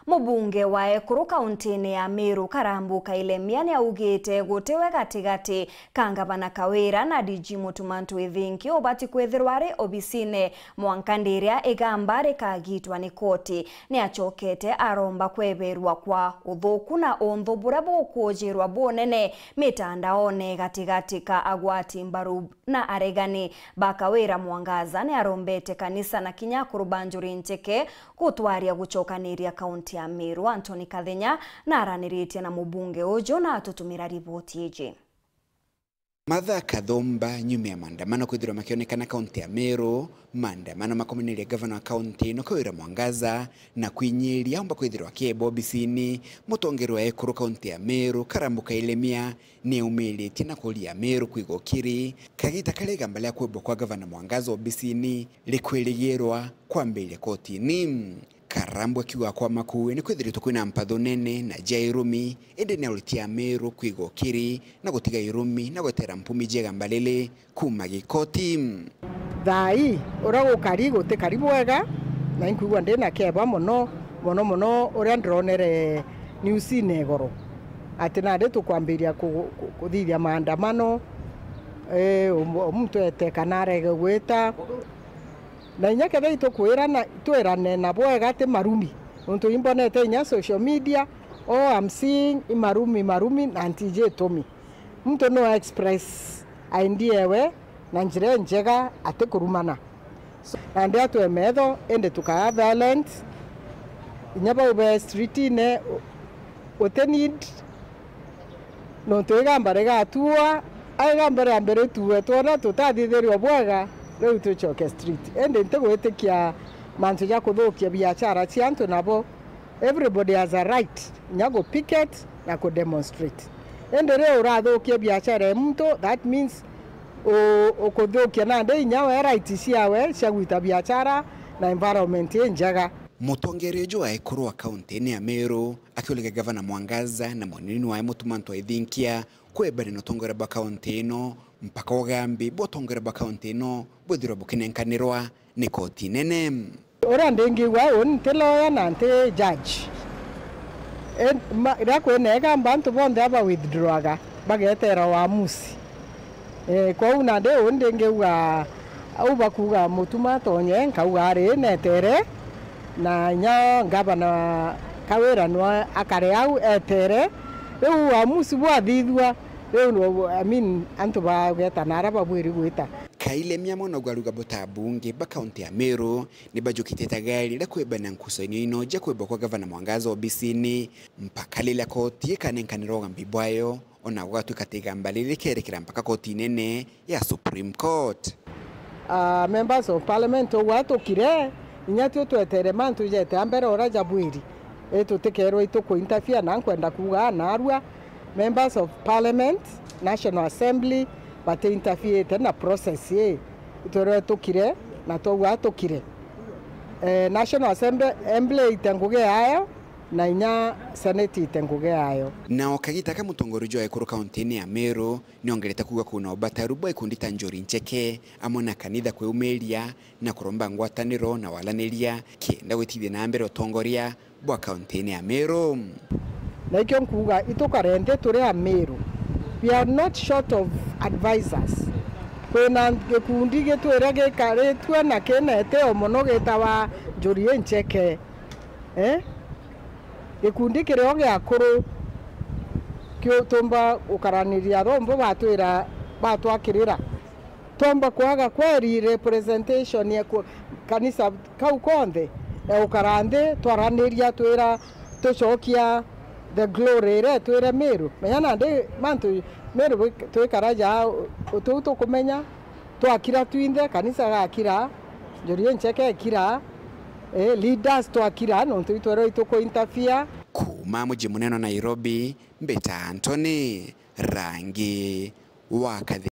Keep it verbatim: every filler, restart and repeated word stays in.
Mubunge wa ekuru kauntine ya Meru, Karambu Kailemia, niaugite gutiwe gatigati ka ngavana Kawira na D G Mutumantu Ithinki ubati kwithirwa ari obisine mwanka ndiria igamba rikagitwa ni koti. Niacokete aromba kweberwa kwa uthuku na unthu buria bukwujirwa bunene mitandaone gatigati ka agwati mbaru na aregani ba Kawira. Mwangaza niarombete kanisa na kinya akuru ba Njuri Ncheke gutwaria gucokaniria kaunti ya Meru. Anthony Kathenya naraniritie na mubunge uju na atutumira riboti iji. Martha Kathumba, nyuma ya maandamano kwithirwa makionekana kaunti ya Meru, maandamano makomanirie gavana wa kaunti ino Kawira Mwangaza na kwinyiria aumba kwithirwa akieba obisini. Mutongeria wa ekuru kaunti ya Meru, Karambu Kailemia, niaumiritie na kuria Meru kwiga ukiri kagita karia igamba ria kwebwa kwa gavana Mwangaza obisini rikwirigirwa kwambiria kotini. Karambu akiuga kwa makuu ni kwithiritwe kwina mpatho nene na jia irumi, indi ni auritie Ameru kwiga ukiri na gutiga irumi na gwetera mpumi jia igamba riri kuuma gikoti. Thaa ii uria gukari gutikari bwega, na inkwigua ndi na keba mono, mono mono uria ndironere newsine igoro, ati nandi tukwambiria ku-, ku-, kuthithia maandamano, eh, um-, muntu ete kana arege gwita. Na inya kethira itukwirana, twirane na bwega ti marumi. Nontu imbonete inya social media, all I'm seeing i marumi, marumi, na ntiji itumi. Muntu no express idea ewe na njira injega atikurumana. So, nandi atwe metho, indi tukaa violent. Inya bau be streetine, u-, uti need. Nontu igamba rigatuua, a igamba ria mbere rituue, twona tutathithirio bwega, riu tucoke street. Indi ntigwitikia mantu ja kuthukia biachara cia antu nabo. Everybody has a right, inya ku picket na ku demonstrate. Indi riu urathukia biachara ya muntu, that means u-, ukuthukia nandi inya we right ciawe cia gwita biachara na environment injega. Mutongeria uju wa ekuru wa kaunti ni ya Meru akiuliga gavana Mwangaza na munini wae Mutumantu Ithinkia kwebana na utongoria bwa kaunti ino, mpaka ugambi bwa utongoria bwa kaunti ino bwithirwa bukinenkanirwa ni koti nene. Uria ndingiuga uu nti lawyer na nti judge. E, ma-, riria kwina igamba antu bonthe aba withdrawga, bagetera uamusi. Eh, kwou nandi uu ndingiuga au bakuuga Mutuma tonye, nkauga ari netere, na inya ngavana Kawira nwe akare au etere. Riu uamusi bwathithua, riu, I mean, antu bageta na aria babwiri gwita. Kailemia mwanagwa aruga buta bungi ba kaunti ya Meru ni bajukitie ta gari riria kwebana nkucanio ino ja kwebwa kwa gavana Mwangaza obisini, mpaka riria koti ikanenkanira ugambi bwayo. Ona gwatuika ati igamba riri rikerekera mpaka koti nene ya Supreme Court. Ah, members of parliament ugwa tukire, inya tio twetere mantu jete a mbere uria jabwiri. I tutikerwa ituku interfere, na nkwenda kuuga narua, members of parliament, National Assembly, bati interfere na process ii. Itwerwe tukire, na twauga tukire. Eh, National Assembly, Assembly ite ngugi yayo, na inya Senate ite ngugi yayo. Na o kagita ka mutongoria uju wa ekuru kauntini ya Meru niongerete kuuga kwina ubataru bwa ikundi ta Njuri Ncheke amwe na kanitha kwiumiria na kuromba ngwataniro na walaniria kenda gwitithia na mbere utongoria bwa kauntini ya Meru. Na ikio nkuuga, itukare nthi turi Ameru. We are not short of advisors. Kwina gikundi gitwire gikaritue na kina itio mono gitawa Njuri Ncheke. Eh? Gikundi kirio gia akuru kiu tumba gukaraniria rombo batwira, batwakirira. Twomba kwaga kweri representation ya ku-, kanisa kau konthe, ya gukara nthi twaraniria twira tucokia the glory iria twire Meru. Menya nandi mantu Meru bwi-, twikara ja u-, utiu tukumenya. Twakira twinthe, kanisa gakira, Njuri Ncheke ekira, eh, leaders twakira, nontu itwerwe ituku interfere. Kuuma muji munene wa Nairobi, mbita Anthony Rangi wa Kathi.